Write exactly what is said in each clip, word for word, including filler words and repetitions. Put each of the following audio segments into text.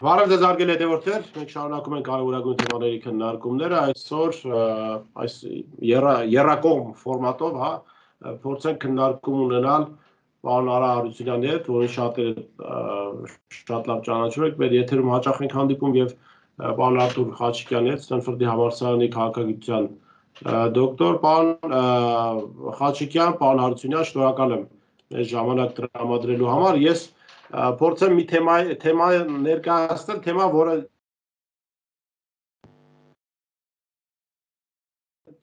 Բարև ձեզ հարգելի հետևորդներ, մենք շարունակում ենք կարևորագույն թեմաների քննարկումները, այսօր այս եռակողմ ֆորմատով, հա, փորձենք քննարկում ունենալ պարոն Արա Հարությունյանի հետ, որին շատերը շատ լավ ճանաչում եք, մեր եթերում հաճախ ենք հանդիպում եւ պարոն Արտուր Խաչիկյանի հետ, Ստենֆորդի համալսարանի քաղաքագիտության դոկտոր, պարոն Խաչիկյան, պարոն Հարությունյան, շնորհակալ եմ այս ժամանակ տրամադրելու համար, ես փորձեմ մի թեմա թեմա ներկայացնել, թեմա, որը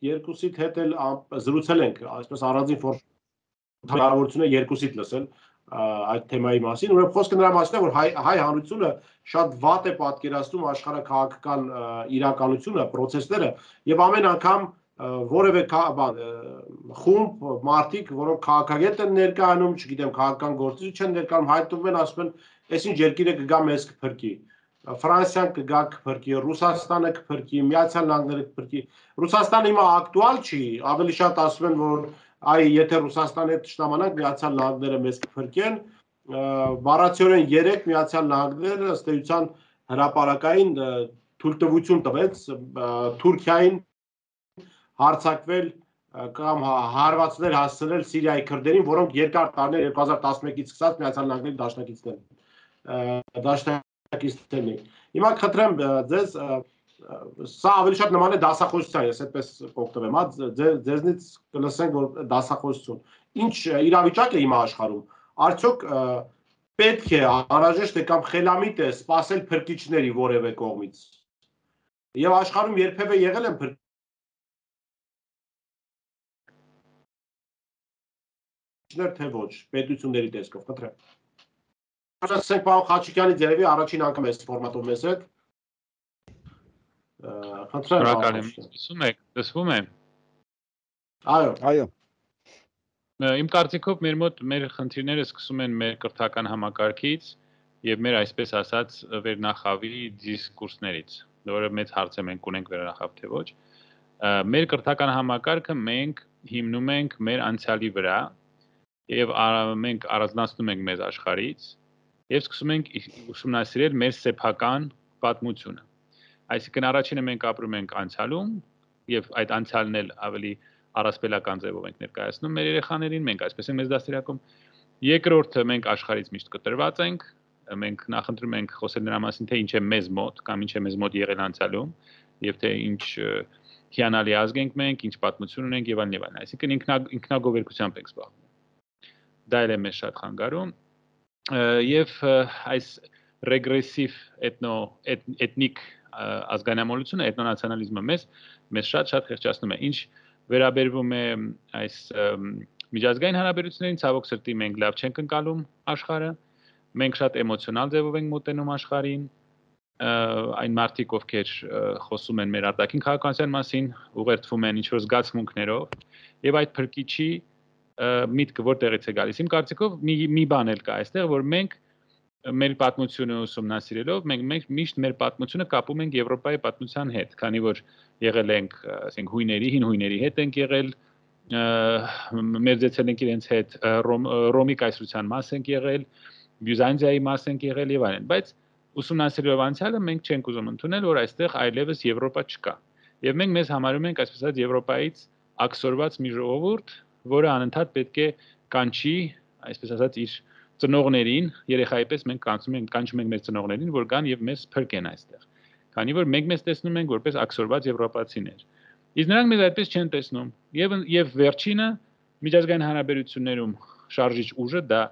երկուսիդ հետ էլ զրուցել ենք, այսպես առանձին հնարավորություն է երկուսիդ լսել այդ թեմայի մասին, ուրեմն խոսքը նրա մասին է, որ հայ, հայ հանրությունը շատ վատ է պատկերացնում աշխարհաքաղաքական իրականությունը, process-ները եւ ամեն անգամ որևէ խումբ մարդիկ, որոնք քաղաքագետ են ներկայանում, չգիտեմ, քաղաքական գործիչ չեն ներկայանում, հայտնվում են, ասում են, այսինչ երկիրը կգա մեզ կփրկի։ Ֆրանսիան կգա կփրկի, Ռուսաստանը կփրկի, Միացյալ Նահանգները կփրկի։ Ռուսաստանը հիմա ակտուալ չի, ավելի շատ ասում են, որ այ եթե Ռուսաստանի հետ ճշտամանանք, Միացյալ Նահանգները մեզ կփրկեն, բառացիորեն երեք Միացյալ Նահանգները ըստ էության հրապարակային թույլտվություն տվեց Թուրքիային հարձակվել կամ հարվածներ հասցնել Սիրիայի քրդերին, որոնք երկար տարիներ երկու հազար տասնմեկից սկսած Միացյալ Նահանգների դաշնակիցներն են, դաշնակիցներն են։ Հիմա խնդրեմ ձեզ, սա ավելի շատ նման է դասախոսության, ես այդպես կօգտվեմ, հա, ձեզնից կլսենք, որ դասախոսություն։ Ինչ իրավիճակ է հիմա աշխարհում։ Արդյոք պետք է անհրաժեշտ է կամ խելամիտ է սպասել փրկիչների որևէ կողմից։ Եվ աշխարհում երբևէ եղել են փրկիչներ, թե ոչ, պետությունների տեսքով, խնդրեմ։ Ասենք պարոն Խաչիկյանից երևի առաջին անգամ այս ֆորմատով մեզ հետ։ Խնդրեմ։ Շնորհակալ եմ, լսում եք, լսվում է։ Այո, այո։ Իմ կարծիքով մեր մոտ մեր խնդիրները սկսում են մեր կրթական համակարգից եւ մեր այսպես ասած վերնախավի դիսկուրսներից, որը մեծ հարց է մենք ունենք վերնախավ թե ոչ։ Մեր կրթական համակարգը մենք հիմնում ենք մեր անցյալի վրա եւ մենք առանձնացնում ենք մեզ աշխարհից եւ սկսում ենք ուսումնասիրել մեր սեփական պատմությունը։ Այսինքն առաջինը մենք ապրում ենք անցյալում եւ այդ անցյալն էլ ավելի առասպելական ձևով ենք ներկայացնում մեր երեխաներին, մենք այսպես ենք մեզ դաստիարակում։ Երկրորդը մենք աշխարհից միշտ կտրված ենք, մենք նախընտրում ենք խոսել նրա մասին, թե ինչ է մեզ մոտ կամ ինչ է մեզ մոտ եղել անցյալում եւ թե ինչ հիանալի ազգ ենք մենք, ինչ պատմություն ունենք եւ այլն եւ այլն։ Այսինքն ինքնա ինքնագովերգությամբ ենք զբաղվում։ Դա էլ է մեզ շատ խանգարում եւ այս ռեգրեսիվ էթնո էթնիկ ազգանամոլությունը, էթնոնացիոնալիզմը մեզ մեզ շատ-շատ խեղճացնում է։ Ինչ վերաբերվում է այս միջազգային հարաբերություններին, ցավոք սրտի մենք լավ չենք ընկալում աշխարհը, մենք շատ էմոցիոնալ ձևով ենք մոտենում աշխարհին, այն մարդիկ, ովքեր խոսում են մեր արտաքին քաղաքականության մասին, ուղերձվում են ինչ-որ զգացմունքներով, եւ այդ փրկիչի միտքը որտեղից է գալիս։ Իմ կարծիքով մի մի բան էլ կա այստեղ, որ մենք մեր պատմությունը ուսումնասիրելով մենք մենք միշտ մեր պատմությունը կապում ենք Եվրոպայի պատմության հետ, քանի որ եղել ենք, ասենք, հույների, հին հույների հետ ենք եղել, մերձեցել ենք իրենց հետ, Ռոմի կայսրության մաս ենք եղել, Բյուզանդիայի մաս ենք եղել եւ այլն, բայց ուսումնասիրելով անցյալը մենք չենք ուզում ընդունել, որ այստեղ այլևս Եվրոպա չկա։ Եվ մենք մեզ համարում ենք, այսպես ասած, Եվրոպայից աքսորված մի ժողովուրդ, որը անընդհատ պետք է կանչի, այսպես ասած, իր ծնողներին, երեխայի պես մենք կանչում ենք, կանչում ենք մեր ծնողներին, որ գան եւ մեզ փրկեն այստեղ։ Քանի որ մենք մեզ տեսնում ենք որպես աքսորված եվրոպացիներ։ Իսկ նրանք մեզ այդպես չեն տեսնում։ Եվ եւ վերջինը միջազգային հարաբերություններում շարժիչ ուժը դա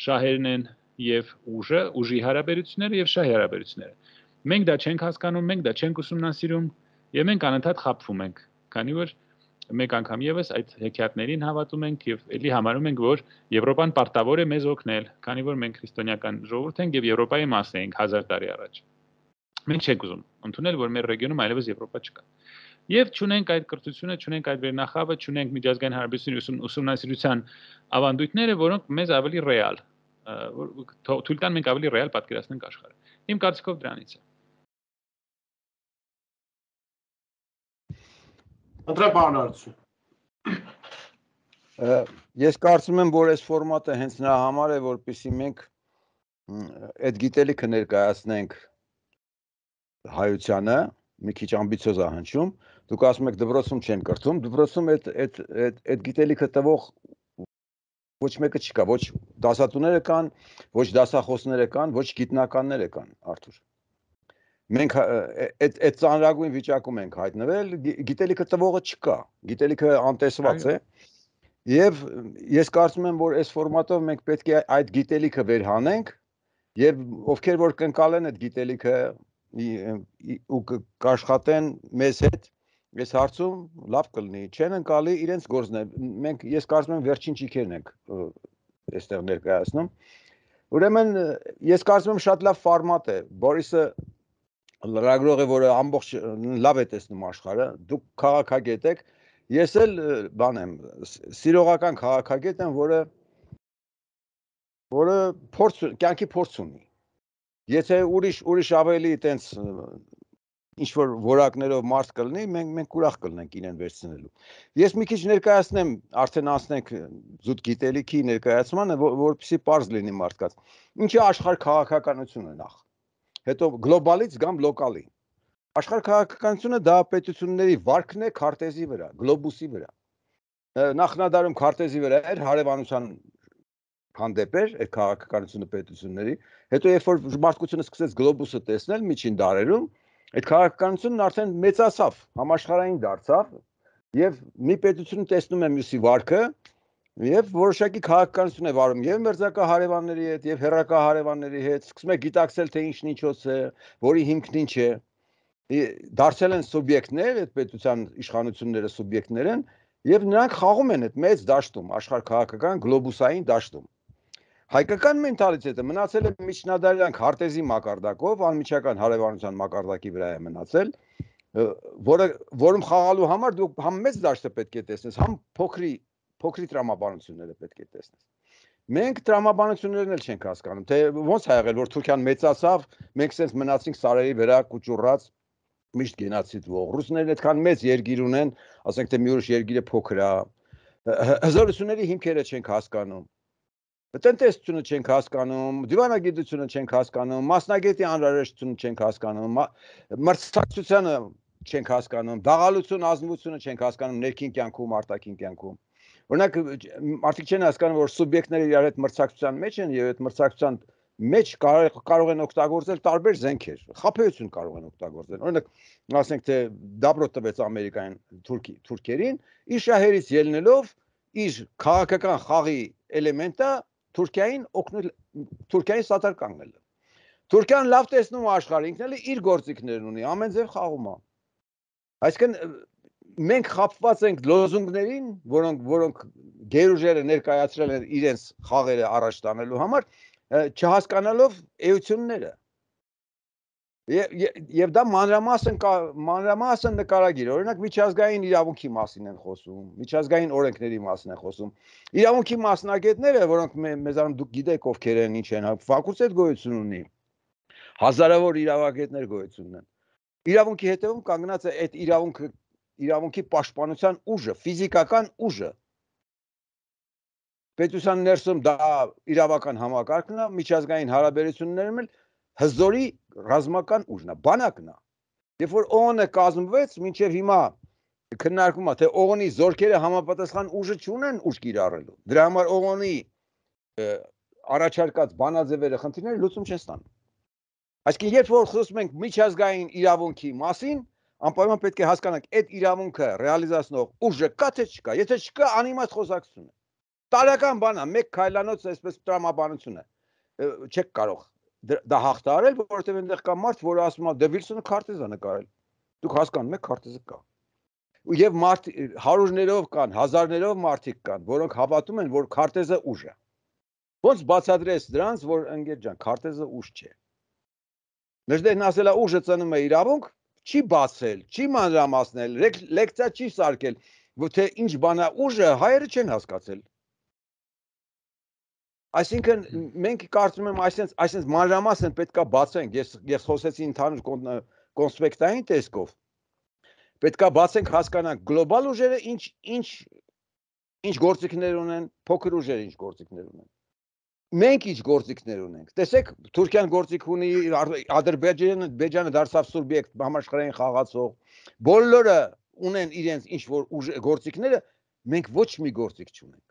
շահերն են եւ ուժը, ուժի հարաբերությունները եւ շահի հարաբերությունները։ Մենք դա չենք հասկանում, մենք դա չենք ուսումնասիրում եւ մենք անընդհատ խաբվում ենք, քանի որ մեկ անգամ եւս այդ հեքիաթներին հավատում ենք եւ ելի համարում ենք, որ Եվրոպան պարտավոր է մեզ օգնել, քանի որ մենք քրիստոնեական ժողովուրդ ենք եւ Եվրոպայի մաս ենք հազար տարի առաջ։ Մենք չենք ուզում ընդունել, որ մեր ռեգիոնում այլևս Եվրոպա չկա։ Եվ չունենք այդ կրթությունը, չունենք այդ վերնախավը, չունենք միջազգային հարաբերությունների ուսումնասիրության ավանդույթները, որոնք մեզ ավելի ռեալ, թույլ տան մենք ավելի ռեալ պատկերացնենք աշխարհը։ Իմ կարծիքով դրանից է։ Ընտրեմ բանալություն։ Ես կարծում եմ, որ այս ֆորմատը հենց նրա համար է, որպեսզի մենք այդ գիտելիքը ներկայացնենք հայությանը, մի քիչ ամբիցիոզ է հնչում, դուք ասում եք դպրոցում չեն կրթում, դպրոցում այդ այդ այդ գիտելիքը տվող ոչ մեկը չկա, ոչ դասատուները կան, ոչ դասախոսները կան, ոչ գիտնականները կան, Արթուր։ Մենք այդ այդ ծանրագույն վիճակում ենք հայտնվել, գիտելիքը տվողը չկա, գիտելիքը անտեսված է։ Եվ ես կարծում եմ, որ այս ֆորմատով մենք պետք է այդ գիտելիքը վերհանենք եւ ովքեր որ կընկալեն այդ գիտելիքը ու կաշխատեն մեզ հետ այս հարցում լավ կլինի, չեն ընկալի իրենց գործն է։ Մենք ես կարծում եմ վերջին ճիքերն ենք այստեղ ներկայացնում։ Ուրեմն ես կարծում եմ շատ լավ ֆորմատ է։ Բորիսը լրագրող է, որը ամբողջ լավ է տեսնում աշխարհը, դուք քաղաքագետ եք, ես էլ բան եմ, սիրողական քաղաքագետ եմ, որը որը փորձ կյանքի փորձ ունի։ Եթե ուրիշ ուրիշ ավելի այտենց ինչ որ որակներով մարդ կլինի, մենք մենք ուրախ կլինենք իրեն վերցնելու։ Ես մի քիչ ներկայացնեմ, արդեն անցնենք զուտ գիտելիքի ներկայացմանը, որպեսզի པարզ լինի մարդկանց։ Ինչ է աշխարհ քաղաքականությունը նախ։ Հետո գլոբալից կամ լոկալի։ Աշխարհ քաղաքականությունը դա պետությունների վարկն է քարտեզի վրա, գլոբուսի վրա։ Նախնադարում քարտեզի վրա էր հարևանության հանդեպ էր այդ քաղաքականությունը պետությունների, հետո երբ որ մարդկությունը սկսեց գլոբուսը տեսնել միջին դարերում, այդ քաղաքականությունն արդեն մեծացավ, համաշխարհային դարձավ, եւ մի պետությունը տեսնում է մյուսի վարկը, եւ որոշակի քաղաքականություն է վարում եւ մերձակա հարևանների հետ, եւ հեռակա հարևանների հետ, սկսում է գիտակցել թե ինչն ինչոց է, որի հիմքն ինչ է, դարձել են սուբյեկտներ, այդ պետության իշխանությունները սուբյեկտներ են, եւ նրանք խաղում են այդ մեծ դաշտում, աշխարհ քաղաքական գլոբուսային դաշտում։ Հայկական մենտալիտետը մնացել է միջնադարյան քարտեզի մակարդակով, անմիջական հարևանության մակարդակի վրա է մնացել, որը որում խաղալու համար դու համ մեծ դաշտը պետք է տեսնես, համ փոքրի փոքրի տրամաբանությունները պետք է տեսնես։ Մենք տրամաբանություններն էլ չենք հասկանում, թե ոնց ա եղել, որ Թուրքիան մեծացավ, մենք սենց մնացինք սարերի վրա կուճուռած միշտ գենոցիդվող։ Ռուսներն այդքան մեծ երկիր ունեն, ասենք թե մի ուրիշ երկիրը փոքր է։ Հզորությունների հիմքերը չենք հասկանում։ Տնտեսությունը չենք հասկանում, դիվանագիտությունը չենք հասկանում, մասնագետի անհրաժեշտությունը չենք հասկանում, մրցակցությունը չենք հասկանում, դաղալություն, ազնվությունը չենք հասկանում ներքին կյանքում, արտաքին կյանքում։ Օրինակ, մարդիկ չեն հասկանում, որ սուբյեկտները իրար հետ մրցակցության մեջ են եւ այդ մրցակցության մեջ կարող են օգտագործել տարբեր զենքեր, խաբեություն կարող են օգտագործել։ Օրինակ, ասենք թե դաբրո տվեց Ամերիկային թուրքերին, իր շահերից ելնելով իր քաղաքական խաղի էլեմենտը Թուրքիային օգնել, Թուրքիային սատար կանգնել։ Թուրքիան լավ տեսնում է աշխարհը, ինքն էլ իր գործիքներն ունի, ամեն ձև խաղում է։ Այսինքն մենք խապված ենք լոզունգներին, որոնք որոնք գերուժերը ներկայացրել են իրենց խաղերը առաջ տանելու համար, չհասկանալով էությունները։ Եվ դա մանրամասն մանրամասն նկարագիր, օրինակ միջազգային իրավունքի մասին են խոսում, միջազգային օրենքների մասին են խոսում։ Իրավունքի մասնագետները, որոնք մեզանում դուք գիտեք ովքեր են, ինչ են, ֆակուլտետ գոյություն ունի, հազարավոր իրավագետներ գոյություն ունեն։ Իրավունքի հետևում կանգնած է այդ իրավունքը, իրավունքի պաշտպանության ուժը, ֆիզիկական ուժը։ Պետության ներսում դա իրավական համակարգն է, միջազգային հարաբերություններում էլ հզորի ռազմական ուժն է, բանակն է։ Երբ որ ՕՕՆ-ը կազմվեց, մինչև հիմա քննարկվում է, թե ՕՕՆ-ի զորքերը համապատասխան ուժը չունեն ուժ կիրառելու։ Դրա համար ՕՕՆ-ի առաջարկած բանաձևերը խնդիրները լուծում չեն ստանում։ Այսինքն, երբ որ խոսում ենք միջազգային իրավունքի մասին, անպայման պետք է հասկանանք, այդ իրավունքը ռեալիզացնող ուժը կա թե չկա։ Եթե չկա, անիմաստ խոսակցություն է։ Տարական բան է, մեկ քայլանոց այսպես տրամաբանություն է։ Չեք կարող դա հաղթահարել, որովհետև այնտեղ կա մարդ, որը ասում է, դե Վիլսոնը քարտեզ է նկարել։ Դուք հասկանում եք, քարտեզը կա։ Եվ մարդ հարյուրներով կան, հազարներով մարդիկ կան, որոնք հավատում են, որ քարտեզը ուժ է։ Ոնց բացատրես դրանց, որ ընկեր ջան, քարտեզը ուժ չէ։ Մեջդեղն ասելա ուժը ծնում է իրավունք, չի բացել, չի մանրամասնել, լեկցիա չի սարքել, թե ինչ բան է ուժը, հայերը չեն հասկացել։ Այսինքն մենք կարծում եմ այսպես այսպես մանրամասն պետքա բացենք, ես ես խոսեցի ընդհանուր կոնսպեկտային տեսքով։ Պետքա բացենք հասկանանք գլոբալ ուժերը ինչ ինչ ինչ գործիքներ ունեն, փոքր ուժերը ինչ գործիքներ ունեն։ Մենք ինչ գործիքներ ունենք։ Տեսեք, Թուրքիան գործիք ունի, Ադրբեջանը, Բեջանը դարձավ սուբյեկտ համաշխարհային խաղացող։ Բոլորը ունեն իրենց ինչ որ գործիքները, մենք ոչ մի գործիք չունենք։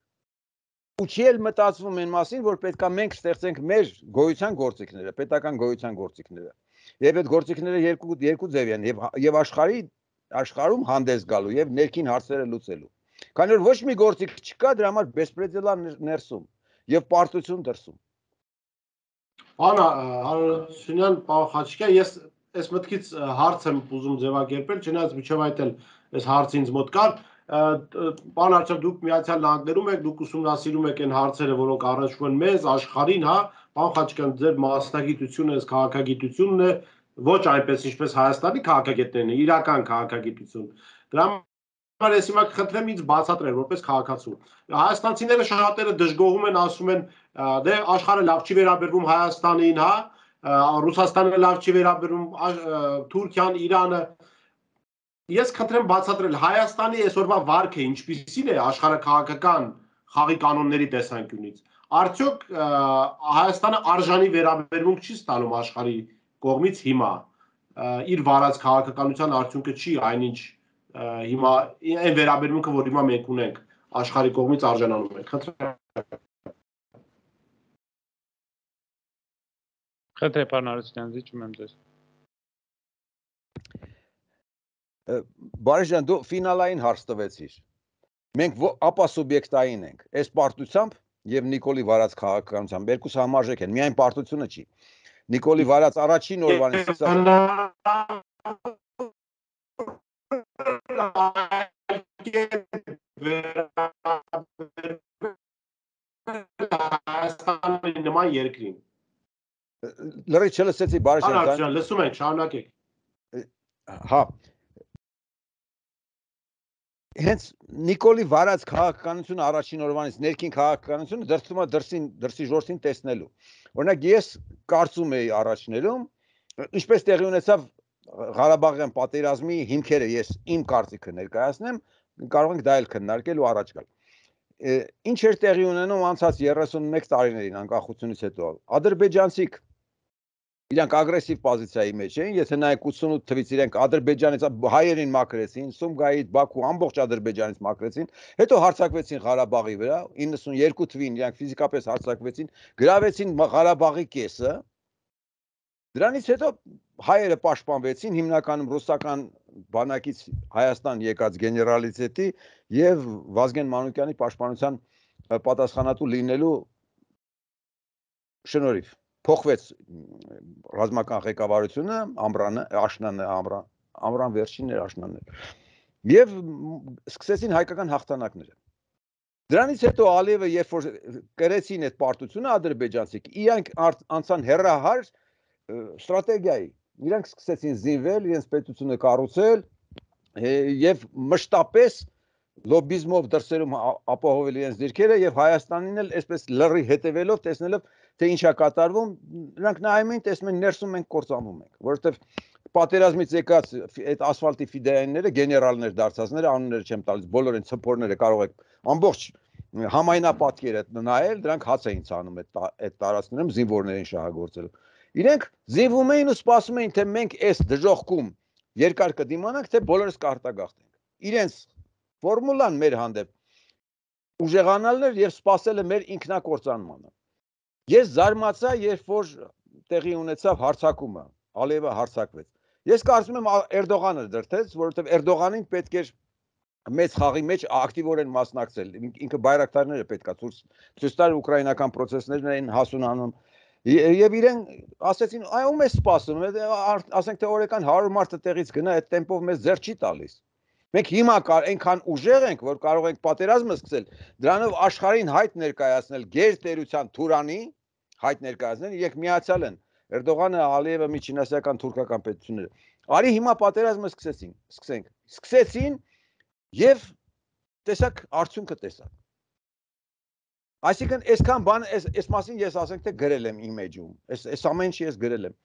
Ու չի էլ մտածվում այն մասին, որ պետքա մենք ստեղծենք մեր գոյության գործիքները, պետական գոյության գործիքները։ Եվ այդ գործիքները երկու երկու ձև են, եւ եւ աշխարհի աշխարհում հանդես գալու եւ ներքին հարցերը լուծելու։ Քանի որ ոչ մի գործիք չկա, դրա համար բեսպրեդելա ներսում եւ պարտություն դրսում։ Անա Հարությունյան, պարոն Խաչիկյան, ես այս մտքից հարց եմ ուզում ձևակերպել, չնայած միջև այդ էլ այս հարցը ինձ մոտ կար։ Պարոն Արչև, դուք Միացյալ Նահանգներում եք, դուք ուսումնասիրում եք այն հարցերը, որոնք առնչվում են մեզ, աշխարհին, հա, պարոն Խաչիկյան, ձեր մասնագիտությունը, այս քաղաքագիտությունն է, ոչ այնպես ինչպես Հայաստանի քաղաքագետներն են, իրական քաղաքագիտություն։ Դրա համար ես հիմա կխնդրեմ ինձ բացատրել որպես քաղաքացու։ Հայաստանցիները շատերը դժգոհում են, ասում են, դե աշխարհը լավ չի վերաբերվում Հայաստանին, հա, Ռուսաստանը լավ չի վերաբերվում, Թուրքիան, Իրանը։ Ես խնդրեմ բացատրել Հայաստանի այսօրվա վարքը ինչպիսին է աշխարհաքաղաքական խաղի կանոնների տեսանկյունից։ Արդյոք Հայաստանը արժանի վերաբերմունք չի ստանում աշխարհի կողմից հիմա իր վարած քաղաքականության արդյունքը չի այնինչ հիմա այն վերաբերմունքը, որ հիմա մենք ունենք աշխարհի կողմից արժանանում ենք։ Խնդրեմ։ Խնդրեմ, պարոն Հարությունյան, զիջում եմ ձեզ։ Բարի ջան, դու ֆինալային հարց տվեցիր։ Մենք ապա սուբյեկտային ենք։ Այս պարտությամբ եւ Նիկոլի վարած քաղաքականությամբ երկուս համարժեք են, միայն պարտությունը չի։ Նիկոլի վարած առաջին օրվանից նման երկրին։ Լրի չլսեցի, բարի ջան, լսում ենք, շարունակեք։ Հա։ Հենց Նիկոլի վարած քաղաքականությունը առաջին օրվանից ներքին քաղաքականությունը դրսում է դրսին դրսի ժողովրդին տեսնելու։ Օրինակ ես կարծում էի առաջներում, ինչպես տեղի ունեցավ Ղարաբաղյան պատերազմի հիմքերը, ես իմ կարծիքը ներկայացնեմ, կարող ենք դա էլ քննարկել ու առաջ գալ։ Ինչ էր տեղի ունենում անցած երեսունմեկ տարիներին անկախությունից հետո։ Ադրբեջանցիք իրանք ագրեսիվ պոզիցիայի մեջ էին, եթե նայեք ութսունութ թվից իրենք Ադրբեջանից հայերին մաքրեցին, Սումգայիթ, Բաքու, ամբողջ Ադրբեջանից մաքրեցին, հետո հարձակվեցին Ղարաբաղի վրա, իննսունյերկու թվին իրանք ֆիզիկապես հարձակվեցին, գրավեցին Ղարաբաղի կեսը։ Դրանից հետո հայերը պաշտպանվեցին, հիմնականում ռուսական բանակից Հայաստան եկած գեներալիտետի եւ Վազգեն Մանուկյանի պաշտպանության պատասխանատու լինելու շնորհիվ փոխվեց ռազմական ղեկավարությունը, Ամրանը, Աշնանը, Ամրան, Ամրան վերջինն էր, Աշնանն էր։ Եվ սկսեցին հայկական հաղթանակները։ Դրանից հետո Ալիևը երբ որ կրեցին այդ պարտությունը ադրբեջանցիք, իրանք անցան հերահար ստրատեգիայի։ Իրանք սկսեցին զինվել, իրենց պետությունը կառուցել եւ մշտապես լոբիզմով դրսերում ապահովել իրենց դիրքերը եւ Հայաստանին էլ այսպես լրի հետևելով, տեսնելով թե ինչ է կատարվում, նրանք նայում են, տեսնում են ներսում մենք կործանվում ենք, որովհետեւ պատերազմից եկած այդ ասֆալտի ֆիդայինները, գեներալներ դարձածները, անունները չեմ տալիս, բոլոր այն ցփորները կարող եք ամբողջ համայնապատկերը նայել, դրանք հաց էին ցանում այդ այդ տարածքներում զինվորներին շահագործելու։ Իրենք զինվում էին ու սպասում էին, թե մենք այս դժոխքում երկար կդիմանանք, թե բոլորս կարտագաղթենք։ Իրենց ֆորմուլան մեր հանդեպ ուժեղանալն էր եւ սпасելը մեր ինքնակործանմանը։ Ես զարմացա, երբ որ տեղի ունեցավ հարձակումը, Ալիևը հարձակվեց։ Ես կարծում եմ Էրդողանը դրթեց, որովհետեւ Էրդողանին պետք էր մեծ խաղի մեջ ակտիվորեն մասնակցել։ Ինքը բայրակտարները պետքա ցույց տար ուկրաինական process-ներն էին հասունանում։ Եվ իրեն ասեցին, այ ում է սպասում, ասենք թե օրական հարյուր մարդը տեղից գնա, այդ տեմպով մեզ ձեռ չի տալիս։ Մենք հիմա այնքան ուժեղ ենք, որ կարող ենք պատերազմը սկսել, դրանով աշխարհին հայտ ներկայացնել գերտերության Թուրանի, հայտ ներկայացնել, իրենք միացյալ են։ Էրդողանը, Ալիևը, միջինասիական թուրքական պետությունները։ Արի հիմա պատերազմը սկսեցին, սկսենք։ Սկսեցին եւ տեսակ արդյունքը տեսակ։ Այսինքն այսքան բան այս այս մասին ես ասենք թե գրել եմ իմեջում։ Այս այս ամեն ինչի ես գրել եմ։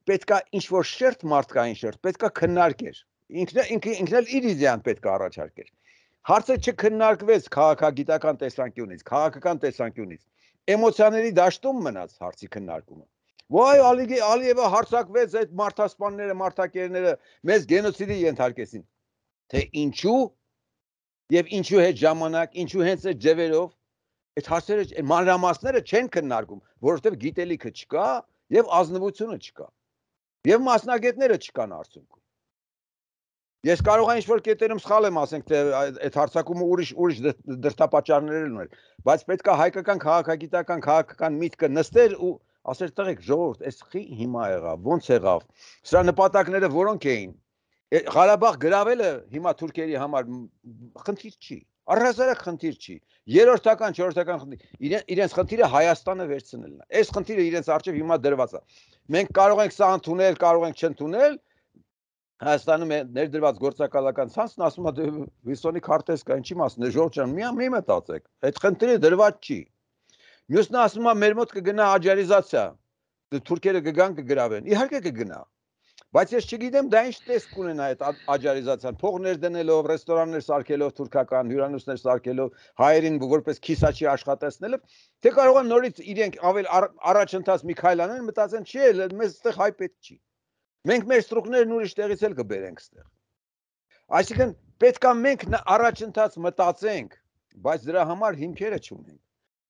Պետքա ինչ որ շերտ մարդկային շերտ, պետքա քննարկեր։ ինքն ինքն էլ իր իդեան պետք է առաջարկեր։ Հարցը չքննարկվեց քաղաքագիտական տեսանկյունից, քաղաքական տեսանկյունից, էմոցիաների դաշտում մնաց հարցի քննարկումը։ Ոայ Ալիևը հարցակվեց այդ մարդասպանները, մարդակերները մեզ գենոցիդի ենթարկեցին։ Թե ինչու եւ ինչու հետ ժամանակ, ինչու հենց այդ ձևերով այդ հարցերը մանրամասները չեն քննարկում, որովհետեւ գիտելիքը չկա եւ ազնվությունը չկա։ Եվ մասնագետները չկան արդյունքում։ Ես կարող եմ ինչ-որ կետերում սխալ եմ ասենք, թե այդ հարցակումը ուրիշ ուրիշ դրդապատճառներ ուներ, բայց պետք է հայկական քաղաքագիտական քաղաքական միտքը նստեր ու ասեր տղեկ ժողովուրդ, այս խի հիմա եղավ, ոնց եղավ։ Սրա նպատակները որոնք էին։ Ղարաբաղ գրավելը հիմա թուրքերի համար խնդիր չի։ Առհասարակ խնդիր չի։ Երրորդական, չորրորդական խնդիր։ Իրենց խնդիրը Հայաստանը վերցնելն է։ Այս խնդիրը իրենց առջև հիմա դրված է։ Մենք կարող ենք սա ընդունել, կարող ենք չընդունել։ Հայաստանում ներդրված գործակալական ցանցն ասում է Վիլսոնի քարտեզ կա, ինչի մասն է, Ժորժ ջան, մի մի մտածեք։ Այդ խնդիրը դրված չի։ Մյուսն ասում է մեր մոտ կգնա աջարիզացիա։ Թուրքերը կգան կգրավեն։ Իհարկե կգնա։ Բայց ես չգիտեմ դա ինչ տեսք կունենա այդ աջարիզացիան, փող ներդնելով, ռեստորաններ սարքելով, թուրքական հյուրանոցներ սարքելով, հայերին որպես քիսաչի աշխատեցնելով, թե կարող են նորից իրենք ավել առաջընթաց մի քայլ անեն, մտածեն, չի, մեզ այդտեղ հայ պետք չի։ Մենք մեր ստրուկներն ուրիշ տեղից էլ կբերենք այդտեղ։ Այսինքն պետք է մենք առաջընթաց մտածենք, բայց դրա համար հիմքերը չունենք։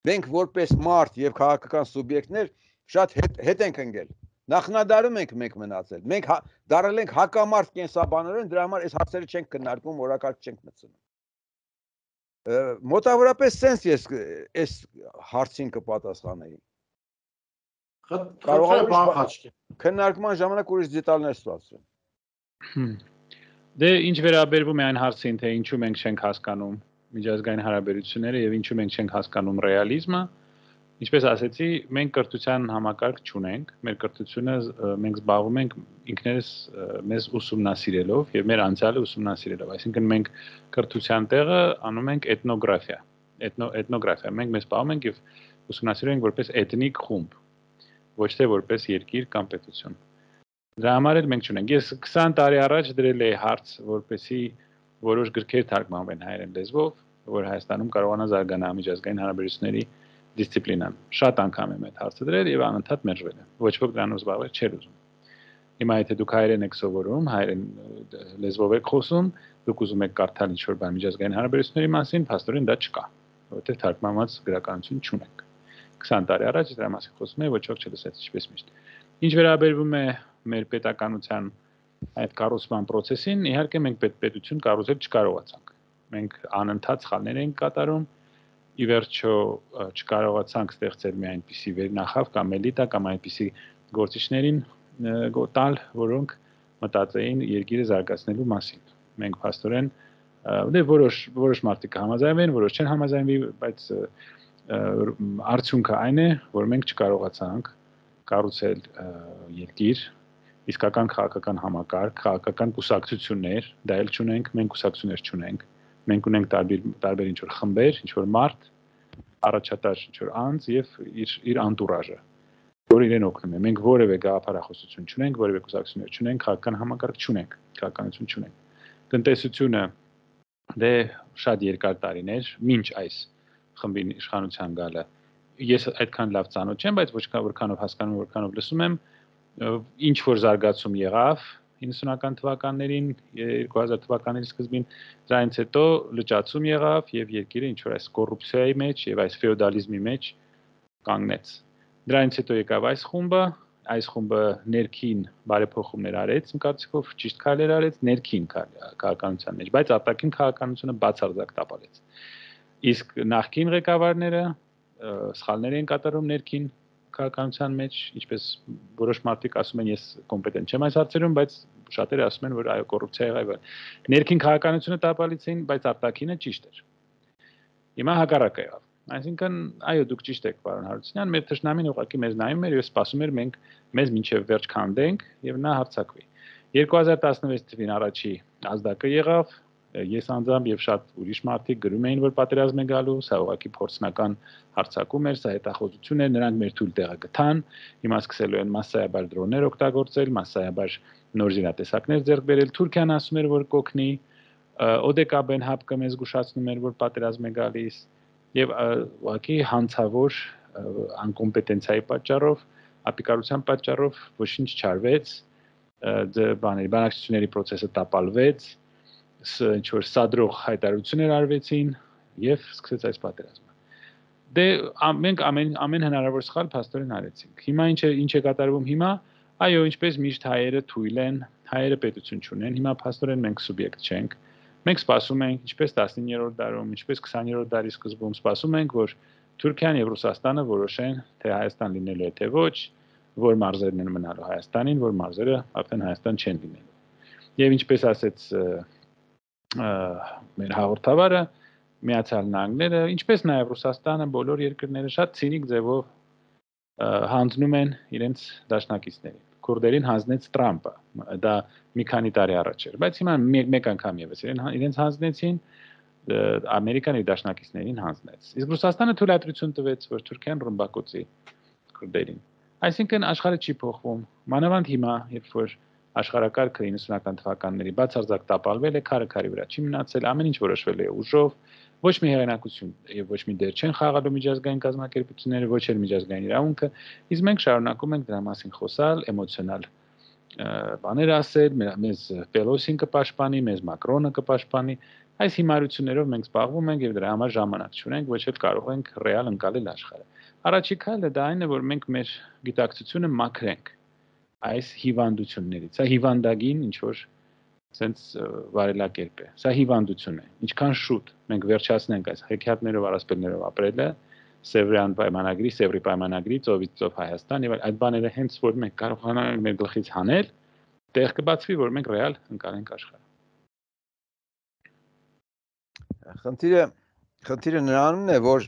Մենք որպես մարդ եւ քաղաքական սուբյեկտներ շատ հետ ենք ընկել։ Նախնադարում ենք մենք մնացել։ Մենք դարել ենք հակամարտ կենսաբանորեն, դրա համար այս հարցերը չենք քննարկում, օրակարգ չենք մտցնում։ Մոտավորապես sense ես այս հարցին կպատասխանեի։ Կարող եմ բախաճ։ Քննարկման ժամանակ ուրիշ դետալներ ստացվեն։ Դե ինչ վերաբերվում է այն հարցին, թե ինչու մենք չենք հասկանում միջազգային հարաբերությունները եւ ինչու մենք չենք հասկանում ռեալիզմը, ինչպես ասեցի, մենք կրթության համակարգ չունենք, մեր կրթությունը մենք զբաղվում ենք ինքներս մեզ ուսումնասիրելով եւ մեր անցյալը ուսումնասիրելով, այսինքն մենք կրթության տեղը անում ենք էթնոգրաֆիա, էթնո էթնոգրաֆիա, մենք մեզ զբաղվում ենք եւ ուսումնասիրում ենք որպես էթնիկ խումբ, ոչ թե որպես երկիր կամ պետություն։ Դրա համար էլ մենք չունենք։ Ես քսան տարի առաջ դրել էի հարց, որպեսզի որոշ գրքեր թարգմանվեն հայերեն լեզվով, որ Հայաստանում կարողանա զարգանալ միջազգային հարաբերությունների դիսցիպլինան։ Շատ անգամ եմ այդ հարցը դրել եւ անընդհատ մերժվել է։ Ոչ ոք դրանով զբաղվել չէր ուզում։ Հիմա եթե դուք հայերեն եք սովորում, հայերեն լեզվով եք խոսում, դուք ուզում եք կարդալ ինչ-որ բան միջազգային հարաբերությունների մասին, փաստորեն դա չկա, որովհետեւ թարգմանված գրականություն չունենք։ քսան տարի առաջ դրա մասին խոսում էի, ոչ ոք չլսեց, ինչպես միշտ։ Ինչ վերաբերվում է մեր պետականության այդ կառուցման process-ին, իհարկե մենք պետություն կառուցել չկարողացանք։ Մենք անընդհատ սխալներ ենք կատարում, ի վերջո չկարողացանք ստեղծել մի այնպիսի վերնախավ կամ էլիտա կամ այնպիսի գործիչներին տալ, որոնք մտածեին երկիրը զարգացնելու մասին։ Մենք փաստորեն դե որոշ որոշ մարդիկ կհամաձայնվեն, որոշ չեն համաձայնվի, բայց արդյունքը այն է, որ մենք չկարողացանք կառուցել երկիր, իսկական քաղաքական համակարգ, քաղաքական կուսակցություններ, դա էլ չունենք, մենք կուսակցություններ չունենք։ Մենք ունենք տարբեր տարբեր ինչ-որ խմբեր, ինչ-որ մարդ, առաջատար ինչ-որ անձ եւ իր իր անտուրաժը, որ իրեն օգնում է։ Մենք որևէ գաղափարախոսություն չունենք, որևէ կուսակցություններ չունենք, քաղաքական համակարգ չունենք, քաղաքականություն չունենք։ Տնտեսությունը դե շատ երկար տարիներ, մինչ այս խմբին իշխանության գալը ես այդքան լավ ծանոթ չեմ, բայց ոչ որքանով հասկանում, որքանով լսում եմ, ինչ որ զարգացում եղավ իննսունական թվականներին, երկու հազար թվականների սկզբին, դրանից հետո լճացում եղավ եւ երկիրը ինչ որ այս կոռուպցիայի մեջ եւ այս ֆեոդալիզմի մեջ կանգնեց։ Դրանից հետո եկավ այս խումբը, այս խումբը ներքին բարեփոխումներ արեց, իմ կարծիքով ճիշտ քայլեր արեց ներքին քաղաքականության մեջ, բայց արտաքին քաղաքականությունը բացարձակ տապալեց։ Իսկ նախկին ղեկավարները սխալներ են կատարում ներքին քաղաքականության մեջ, ինչպես որոշ մարդիկ ասում են, ես կոմպետենտ չեմ այս հարցերում, բայց շատերը ասում են, որ այո, կոռուպցիա եղավ։ Ներքին քաղաքականությունը տապալեցին, բայց արտաքինը ճիշտ էր։ Հիմա հակառակը եղավ։ Այսինքն, այո, դուք ճիշտ եք, պարոն Հարությունյան, մեր թշնամին ուղղակի մեզ նայում էր եւ սպասում էր մենք մեզ մինչեւ վերջ քանդենք եւ նա հարձակվի։ երկու հազար տասնվեց թվին առաջի ազդակը եղավ, Ես անձամբ եւ շատ ուրիշ մարդիկ գրում էին, որ պատերազմ է գալու, սա ուղղակի փորձնական հարձակում էր, սա հետախուզություն էր, նրանք մեր թույլ տեղը գտան, հիմա սկսելու են massայաբար դրոններ օգտագործել, massայաբար նոր զինատեսակներ ձեռք բերել։ Թուրքիան ասում էր, որ կօգնի, Օդեկաբեն հապկը մեզ զգուշացնում էր, որ պատերազմ է գալիս, եւ ուղղակի հանցավոր անկոմպետենցիայի պատճառով, ապիկարության պատճառով ոչինչ չարվեց, բաների բանակցությունների process-ը տապալվեց, ինչ որ սադրող հայտարարություններ արվեցին եւ սկսեց այս պատերազմը։ Դե մենք ամեն ամեն հնարավոր սխալ փաստորեն արեցինք։ Հիմա ինչ է ինչ է կատարվում հիմա, այո, ինչպես միշտ հայերը թույլ են, հայերը պետություն չունեն, հիմա փաստորեն մենք սուբյեկտ չենք։ Մենք սպասում ենք, ինչպես տասնիններորդ դարում, ինչպես քսաներորդ դարի սկզբում սպասում ենք, որ Թուրքիան եւ Ռուսաստանը որոշեն, թե Հայաստան լինելու է թե ոչ, որ մարզերն են մնալու Հայաստանին, որ մարզերը արդեն Հայաստան չեն լինելու։ Եվ ինչպես ասեց մեր հաղորդավարը, Միացյալ Նահանգները, ինչպես նաեւ Ռուսաստանը, բոլոր երկրները շատ ցինիկ ձևով հանձնում են իրենց դաշնակիցներին։ Քուրդերին հանձնեց Տրամպը, դա մի քանի տարի առաջ էր, բայց հիմա մեկ անգամ եւս իրենց հանձնեցին, Ամերիկան իր դաշնակիցներին հանձնեց։ Իսկ Ռուսաստանը թույլատրություն տվեց, որ Թուրքիան ռմբակոծի քուրդերին։ Այսինքն աշխարհը չի փոխվում, մանավանդ հիմա, երբ որ աշխարհակարգը իննսունական թվականների բացարձակ տապալվել է, քարը քարի վրա չի մնացել, ամեն ինչ որոշվել է ուժով, ոչ մի հեղինակություն եւ ոչ մի դեր չեն խաղալու միջազգային կազմակերպությունները, ոչ էլ միջազգային իրավունքը, իսկ մենք շարունակում ենք դրա մասին խոսալ, էմոցիոնալ բաներ ասել, մեզ Պելոսին կպաշտպանի, մեզ Մակրոնը կպաշտպանի, այս հիմարություններով մենք զբաղվում ենք եւ դրա համար ժամանակ չունենք, ոչ էլ կարող ենք ռեալ ընկալել աշխարհը։ Առաջի քայլը դա այն է, որ մենք մեր գիտակցությունը մաքրենք այս հիվանդություններից։ Սա հիվանդագին ինչ որ sense վարելակերպ է։ Սա հիվանդություն է։ Ինչքան շուտ մենք վերջացնենք այս հեքիաթներով, առասպելներով ապրելը, Սևրյան պայմանագրի, Սևրի պայմանագրի, ծովից ծով Հայաստան եւ այդ բաները հենց որ մենք կարողանանք մեր գլխից հանել, տեղ կբացվի, որ մենք ռեալ ընկալենք աշխարհը։ Խնդիրը խնդիրը նրանում է, որ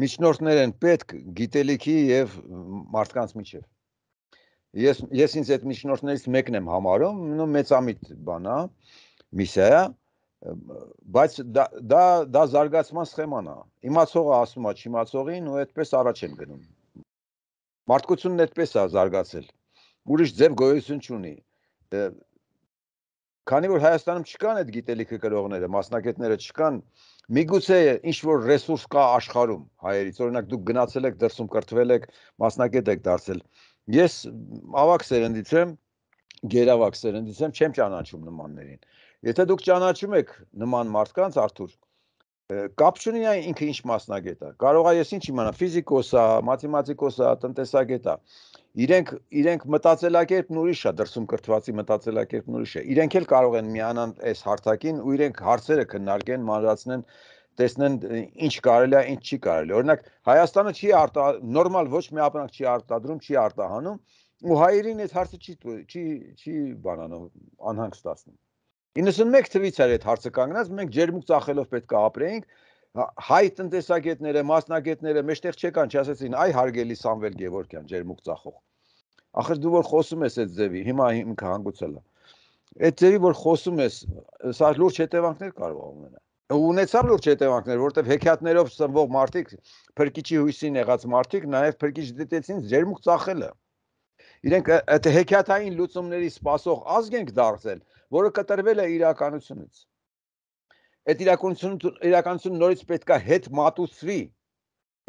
միջնորդներ են պետք գիտելիքի եւ մարդկանց միջեւ։ Ես ես ինձ այդ միջնորդներից մեկն եմ համարում, նո մեծամիտ բան է, միսիա է, բայց դա դա դա զարգացման սխեման է։ Իմացողը ասում է չիմացողին ու այդպես առաջ են գնում։ Մարդկությունն այդպես է զարգացել։ Ուրիշ ձև գոյություն չունի։ Քանի որ Հայաստանում չկան այդ գիտելիքը կրողները, մասնակիցները չկան, միգուցե ինչ որ ռեսուրս կա աշխարհում հայերից, օրինակ դուք գնացել եք դրսում կրթվել եք, մասնակից եք դարձել։ Ես ավակ սերնդից եմ, գերավակ սերնդից եմ, չեմ ճանաչում նմաններին։ Եթե դուք ճանաչում եք նման մարդկանց, Արթուր, կապ չունի այն ինքը ինչ մասնագետ է։ Կարող է ես ինչ իմանամ, ֆիզիկոս է, մաթեմատիկոս է, տնտեսագետ է։ Իրենք իրենք մտածելակերպն ուրիշ է, դրսում կրթվածի մտածելակերպն ուրիշ է։ Իրենք էլ կարող են միանան այս հարթակին ու իրենք հարցերը քննարկեն, մանրացնեն, տեսնեն ինչ կարելի է, ինչ չի կարելի։ Օրինակ Հայաստանը չի արտա նորմալ ոչ մի ապրանք չի արտադրում, չի արտահանում ու հայերին այդ հարցը չի չի չի բանանում, անհանգստացնում։ իննսունմեկ թվից էր այդ հարցը կանգնած, մենք ջերմուկ ծախելով պետք է ապրեինք, հայ տնտեսագետները, մասնագետները մեջտեղ չեկան, չասեցին, այ հարգելի Սամվել Գևորգյան, ջերմուկ ծախող։ Ախր դու որ խոսում ես այդ ձևի, հիմա ինքը հանգուցել է։ Այդ ձևի որ խոսում ես, սա լուրջ հետևանքներ կարող է ունենալ։ Ունեցավ լուրջ հետևանքներ, որովհետև հեքիաթներով սնվող մարդիկ, փրկիչի հույսին եղած մարդիկ նաև փրկիչ դիտեցին ջերմուկ ծախելը։ Իրենք այդ հեքիաթային լուծումների սպասող ազգ ենք դարձել, որը կտրվել է իրականությունից։ Այդ իրականությունը իրականությունը նորից պետք է հետ մատուցվի։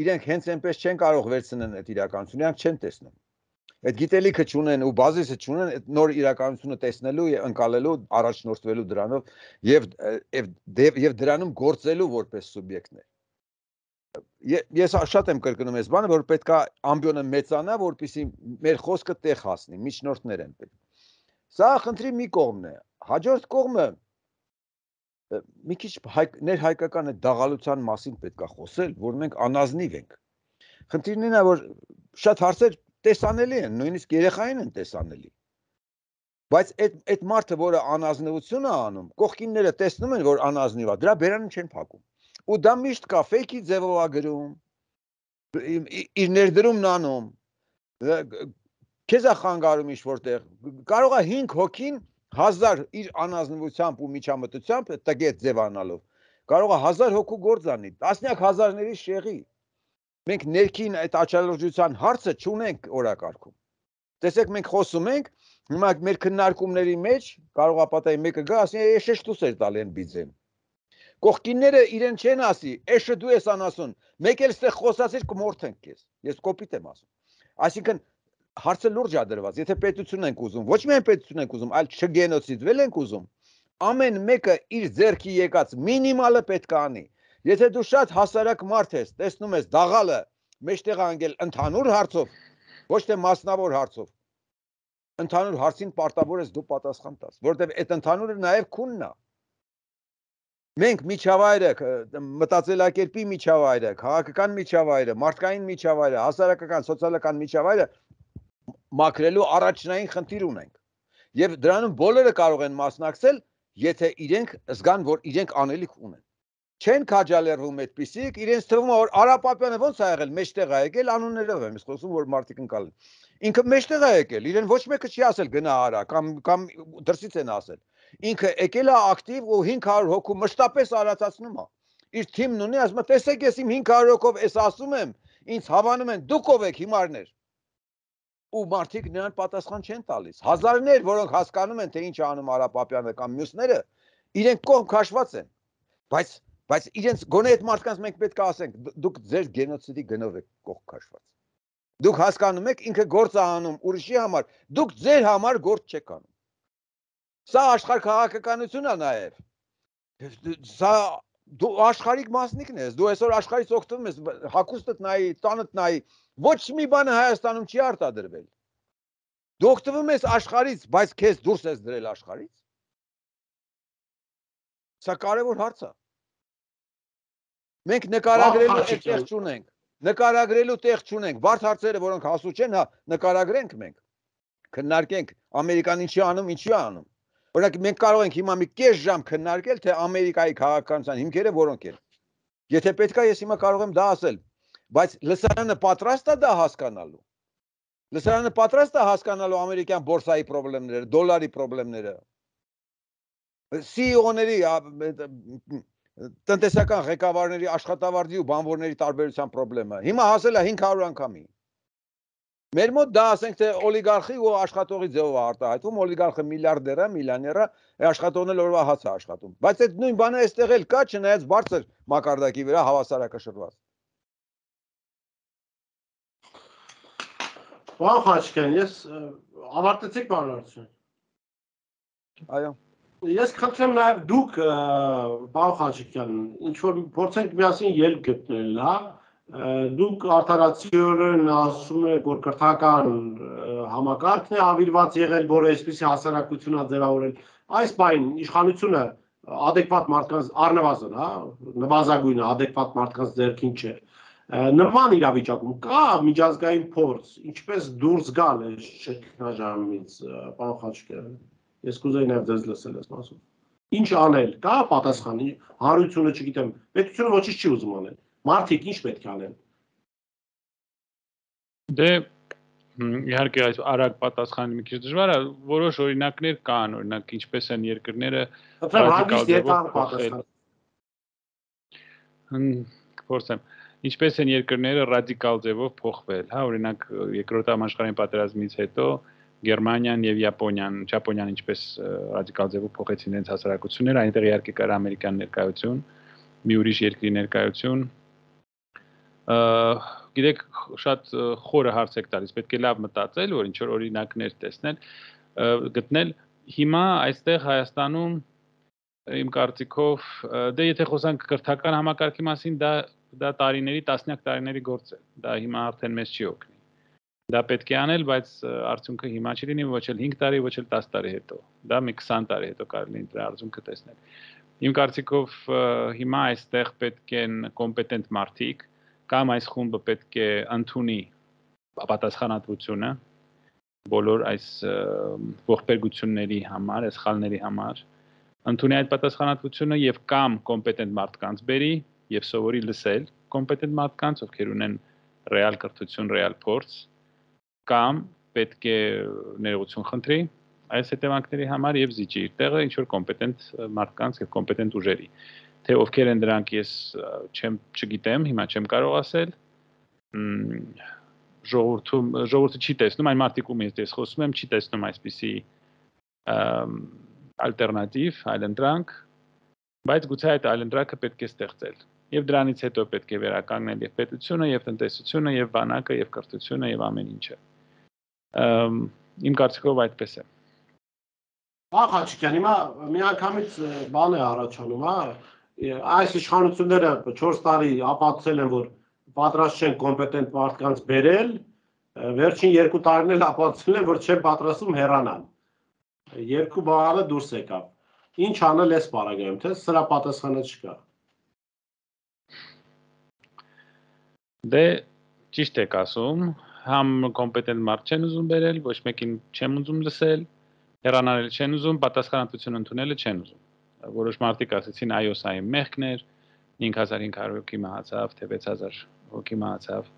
Իրենք հենց այնպես չեն կարող վերցնել այդ իրականությունը, իրանք չեն տեսնում։ Այդ գիտելիքը չունեն ու բազիսը չունեն այդ նոր իրականությունը տեսնելու եւ ընկալելու, առաջնորդվելու դրանով եւ եւ եւ դրանում գործելու որպես սուբյեկտներ։ Ես շատ եմ կրկնում այս բանը, որ պետք է ամբիոնը մեծանա, որպեսզի մեր խոսքը տեղ հասնի, միջնորդներ են պետք։ Սա խնդրի մի կողմն է։ Հաջորդ կողմը մի քիչ ներհայկական այդ դաղալության մասին պետք է խոսել, որ մենք անազնիվ ենք։ Խնդիրն ինա, որ շատ հարցեր տեսանելի են, նույնիսկ երեխային են տեսանելի։ Բայց այդ այդ մարդը, որը անազնվություն է անում, կողքինները տեսնում են, որ անազնիվ է, դրա բերանը չեն փակում։ Ու դա միշտ կա, ֆեյքի ձևով է գրում, իր ներդրումն անում, քեզ է խանգարում ինչ որտեղ, կարող է հինգ հոգին հազար իր անազնվությամբ ու միջամտությամբ տգետ ձևանալով կարող է հազար հոգու գործ անի, տասնյակ հազարների շեղի։ Մենք ներքին այդ աչալրջության հարցը չունենք օրակարգում։ Տեսեք, մենք խոսում ենք, հիմա մեր քննարկումների մեջ կարող է պատահի մեկը գա, ասի, «Էշե դուս էր տալի են բիձեն»։ Կողքինները իրեն չեն ասի, «Էշե դու ես անասուն»։ Մեկ էլ ստեղ խոսացիր կմորթենք քեզ։ Ես կոպիտ եմ ասում։ Այսինքն հարցը լուրջ է դրված, եթե պետություն ենք ուզում, ոչ միայն պետություն ենք ուզում, այլ չգենոցիդվել ենք ուզում, ամեն մեկը իր ձեռքի եկած մինիմալը պետք է անի։ Եթե դու շատ հասարակ մարդ ես, տեսնում ես դաղալը մեջտեղ անգել ընդհանուր հարցով, ոչ թե մասնավոր հարցով, ընդհանուր հարցին պարտավոր ես դու պատասխան տաս, որովհետև այդ ընդհանուրը նաև քունն է։ Մենք միջավայրը, մտածելակերպի միջավայրը, քաղաքական միջավայրը, մարդկային միջավայրը, հասարակական, սոցիալական միջավայրը մաքրելու առաջնային խնդիր ունենք։ Եվ դրանում բոլորը կարող են մասնակցել, եթե իրենք զգան, որ իրենք անելիք ունեն։ Չեն քաջալերվում այդպիսիք, իրենց թվում է, որ Արա Պապյանը ոնց է եղել, մեջտեղ է եկել, անուններով եմ խոսում, որ մարդիկ ընկալ են։ Ինքը մեջտեղ է եկել, իրեն ոչ մեկը չի ասել գնա արա, կամ կամ դրսից են ասել։ Ինքը եկել է ակտիվ ու հինգ հարյուր հոգու մշտապես արածացնում է։ Իր թիմն ունի, ասում է, տեսեք, ես իմ հինգ հարյուր հոգով էս ասում եմ, ինձ հավանում են, դուք ով եք հիմարներ։ Ու մարդիկ նրան պատասխան չեն տալիս։ Հազարներ, որոնք հասկանում են, թե ինչ է անում Արա Պապյանը կամ մյուսները, իրենք կողմ քաշված են։ Բայց բայց իրենց գոնե այդ մարդկանց մենք պետք է ասենք, դուք ձեր գենոցիդի գնով եք կողմ քաշված։ Դուք հասկանում եք, ինքը գործ է անում ուրիշի համար, դուք ձեր համար գործ չեք անում։ Սա աշխարհ քաղաքականություն է նաև։ Սա դու աշխարհիկ մասնիկն ես, դու այսօր աշխարհից օգտվում ես, հագուստդ նայի, տանդ նայի, ոչ մի բանը Հայաստանում չի արտադրվել։ Դու օգտվում ես աշխարհից, բայց քեզ դուրս ես դրել աշխարհից։ Սա կարևոր հարց է։ Մենք նկարագրելու տեղ չունենք, նկարագրելու տեղ չունենք, բարդ հարցերը, որոնք հասու չեն, հա, նկարագրենք մենք, քննարկենք, Ամերիկան ինչի անում, ինչի անում։ Օրինակ մենք կարող ենք հիմա մի կես ժամ քննարկել, թե Ամերիկայի քաղաքականության հիմքերը որոնք են։ Եթե պետք է, ես հիմա կարող եմ դա ասել, բայց լսարանը պատրաստ է դա հասկանալու։ Լսարանը պատրաստ է հասկանալու ամերիկյան բորսայի խնդիրները, դոլարի խնդիրները։ սի ի օ-ների տնտեսական ղեկավարների, աշխատավարձի ու բանվորների տարբերության խնդրը։ Հիմա հասել է հինգ հարյուր անգամի։ Մեր մոտ դա ասենք թե օլիգարխի ու աշխատողի ձևով արտահայտվում, օլիգարխը միլիարդեր է, միլիոներ է, աշխատողն էլ օրվա հաց է աշխատում։ Բայց այդ նույն բանը այստեղ էլ կա, չնայած բարձր մակարդակի վրա հավասարակշռված։ Պարոն Խաչիկյան, ես ավարտեցիք բանալարությունը։ Այո։ Ես խնդրեմ նաև դուք, պարոն Խաչիկյան, ինչ որ փորձենք միասին ելք գտնել, հա, դուք արդարացիորեն ասում եք, որ կրթական համակարգն է ավիրված եղել, որը այսպիսի հասարակություն է ձևավորել, այս բան իշխանությունը adekvat մարդկանց առնվազն, հա, նվազագույնը adekvat մարդկանց ձեռքին չէ։ Նման իրավիճակում կա միջազգային փորձ, ինչպես դուրս գալ այս շրջանից, պարոն Խաչիկյան։ Ես կուզեի նաև ձեզ լսել ես մասում։ Ինչ անել, կա պատասխան, հանրությունը չգիտեմ, պետությունը ոչինչ չի ուզում անել։ Մարդիկ ինչ պետք է անեն։ Դե իհարկե այս արագ պատասխանը մի քիչ դժվար է, որոշ օրինակներ կան, օրինակ ինչպես են երկրները փոխվել։ Ինչպես են երկրները ռադիկալ ձևով փոխվել, հա, օրինակ երկրորդ համաշխարհային պատերազմից հետո Գերմանիան եւ Япոնիան, Ճապոնիան ինչպես ռադիկալ ձևով փոխեցին իրենց հասարակությունները, այնտեղ իհարկե կար ամերիկյան ներկայություն, մի ուրիշ երկրի ներկայություն։ Գիտեք, շատ խորը հարց եք տալիս, պետք է լավ մտածել, որ ինչ որ օրինակներ տեսնել, գտնել։ Հիմա այստեղ Հայաստանում իմ կարծիքով, դե եթե խոսանք կրթական համակարգի մասին, դա դա տարիների, տասնյակ տարիների գործ է։ Դա հիմա արդեն մեզ չի օգնի։ Դա պետք է անել, բայց արդյունքը հիմա չի լինի, ոչ էլ հինգ տարի, ոչ էլ տասը տարի հետո։ Դա մի քսան տարի հետո կարելի է դրա արդյունքը տեսնել։ Իմ կարծիքով հիմա այստեղ պետք են կոմպետենտ մարդիկ, կամ այս խումբը պետք է ընդունի պատասխանատվությունը բոլոր այս ողբերգությունների համար, այս սխալների համար, ընդունի այդ պատասխանատվությունը եւ կամ կոմպետենտ մարդկանց բերի եւ սովորի լսել կոմպետենտ մարդկանց, ովքեր ունեն ռեալ կրթություն, ռեալ փորձ, կամ պետք է ներողություն խնդրի այս հետևանքների համար եւ զիջի իր տեղը ինչ որ կոմպետենտ մարդկանց եւ կոմպետենտ ուժերի։ Թե ովքեր են դրանք ես չեմ չգիտեմ, հիմա չեմ կարող ասել։ Ժողովրդում ժողովուրդը չի տեսնում, այն մարդիկում ես խոսում եմ, չի տեսնում այսպիսի ալտերնատիվ, այլընտրանք, բայց գուցե այդ այլընտրանքը պետք է ստեղծել։ Եվ դրանից հետո պետք է վերականգնել եւ պետությունը, եւ տնտեսությունը, եւ բանակը, եւ կրթությունը, եւ ամեն ինչը։ Իմ կարծիքով այդպես է։ Ահա Խաչիկյան, հիմա միանգամից բան է առաջանում, հա։ Այս իշխանությունները չորս տարի ապացուցել են, որ պատրաստ չեն կոմպետենտ մարդկանց բերել, վերջին երկու տարիներ էլ ապացուցել են, որ չեն պատրաստվում հեռանալ։ Երկու բանը դուրս եկավ։ Ինչ անել էս պարագայում, թե սրա պատասխանը չկա։ Դե ճիշտ եք ասում, համ կոմպետենտ մարդ չեն ուզում բերել, ոչ մեկին չեմ ուզում լսել, հեռանալ չեն ուզում, պատասխանատվություն ընդունելը չեն ուզում։ Որոշ մարդիկ ասեցին այո, սա իմ մեղքն էր, հինգ հազար հինգ հարյուր հոգի մահացավ, թե վեց հազար հոգի մահացավ։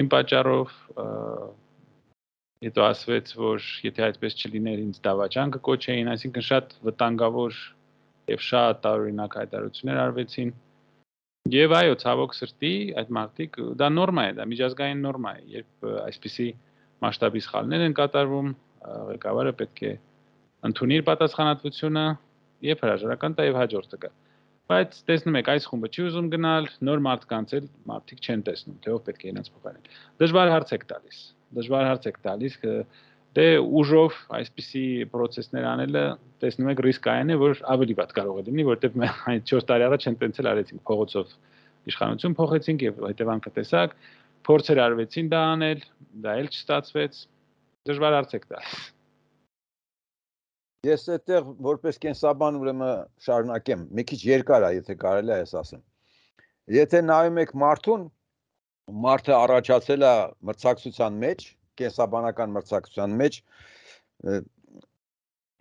Իմ պատճառով հետո ասվեց, որ եթե այդպես չլիներ, ինձ դավաճան կկոչեին, այսինքն շատ վտանգավոր եւ շատ տարօրինակ հայտարարություններ արվեցին։ Եվ այո, ցավոք սրտի, այդ մարդիկ դա նորմա է, դա միջազգային նորմա է, երբ այսպիսի մասշտաբի սխալներ են կատարվում, ղեկավարը պետք է ընդունի իր պատասխանատվությունը եւ հրաժարական տա եւ հաջորդը գա։ Բայց տեսնում եք, այս խումբը չի ուզում գնալ, նոր մարդկանց էլ մարդիկ չեն տեսնում, թե ով պետք է իրենց փոխարեն։ Դժվար հարց եք տալիս։ Դժվար հարց եք տալիս, դե ուժով այսպիսի process-ներ անելը տեսնում եք ռիսկային է, որ ավելի վատ կարող է լինի, որովհետեւ այդ չորս տարի առաջ են տենցել արեցինք փողոցով իշխանություն փոխեցինք եւ հետևանքը տեսակ, փորձեր արվեցին դա անել, դա էլ չստացվեց։ Դժվար հարց եք տալիս։ Ես այդտեղ որպես կենսաբան ուրեմն շարունակեմ, մի քիչ երկար է, եթե կարելի է ես ասեմ։ Եթե նայում եք մարդուն, մարդը առաջացել է մրցակցության մեջ, կենսաբանական մրցակցության մեջ,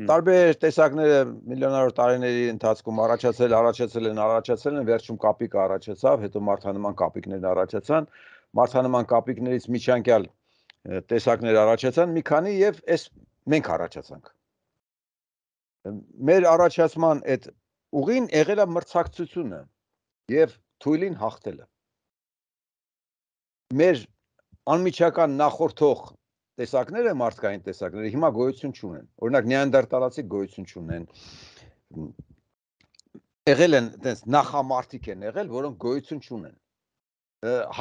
տարբեր տեսակները միլիոնավոր տարիների ընթացքում առաջացել, առաջացել են, առաջացել են, վերջում կապիկը առաջացավ, հետո մարդանման կապիկներն առաջացան, մարդանման կապիկներից միջանկյալ տեսակներ առաջացան, մի քանի եւ այս մենք առաջացանք։ Մեր առաջացման այդ ուղին եղել է մրցակցությունը եւ թույլին հաղթելը։ Մեր անմիջական նախորդող տեսակները, մարդկային տեսակները հիմա գոյություն չունեն։ Օրինակ նեանդերտալացի գոյություն չունեն։ Եղել են այդպես նախամարտիկ են եղել, որոնք գոյություն չունեն։